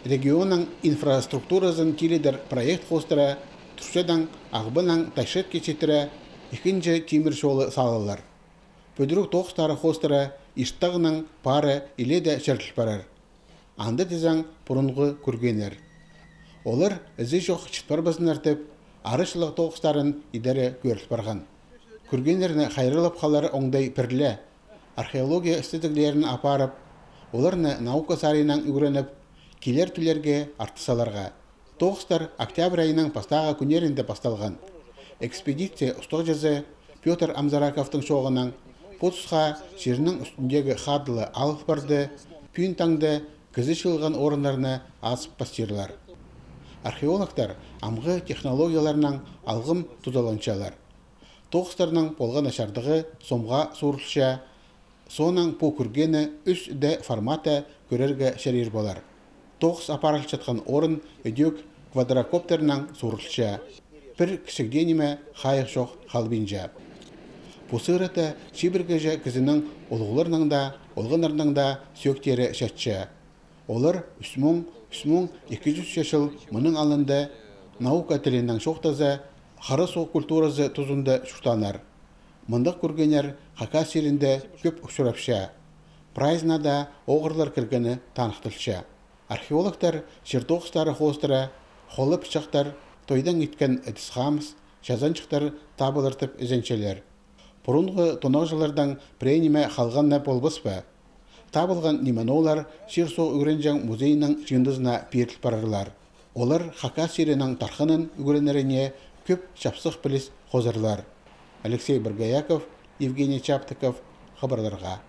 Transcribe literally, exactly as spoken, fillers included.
регионның инфраструктурасын килидер проект хостыра, түршедан ағбынан тайшет кечетіре, икінжі темір жолы салылар. Пөдірік тоқстары хостыра, иштағының пары иле де шәртіл барар. Анды тезаң бұрынғы көргенер. Олар ізі жоқ чытпар базын артып, арышылық тоқстарын идәрі көріліп барған. Көргенеріні қайрылып қалары оңдай пірлі, археология істедіглерін апарып, оларны наука сарайынан үгіреніп, келер түлерге артысаларға. Тоқстар октябрь айының пастаға күнерінде басталған. Экспедиция ұстық жазы Петр Амзараковтың шоғынан Потусқа жерінің үстіндегі қадылы алып барды, пүйін таңды кізі шылған орындарына асып пастирлар. Археологтар амғы технологияларынан алғым тұзаланчалар. Тоқстарының болған ашардығы сомға суырылша, сонан по күргені үш дэ форматы көрерге шәрер болар. Тоқс апарыл жатқан орын өдек квадрокоптернан суырылша, бір кішігденеме қайық жоқ қалбинжа. Бұсырыты шибіргежі кізінің олғыларының да, олғынарының да сөктері шәтші. Олар үсмің, үсмің екі жүз жыл мұның алынды наука тілінен шоқтазы, қары соқ культуразы тұзынды шуқтанар. Мұндық көргенер қақа серінде көп ұшырапша. Прайзнада оғырлар кіргені танықтылша. Археологтар Чертоқстары хостыра, қолы пышақтар, тойдан еткен әдісқамыз, жазанчықтар табылыртып үзенчелер. Бұрынғы тонақ прейниме қалғанна болбыс ба? Табылған неманолар Шерсо үгіренжан музейінің жындызына пертіл барарлар. Олар қақа серінің тарқының үгіренеріне көп чапсық біліс қозырлар. Алексей Баргаяков, Евгений Чаптыков, хабарларға.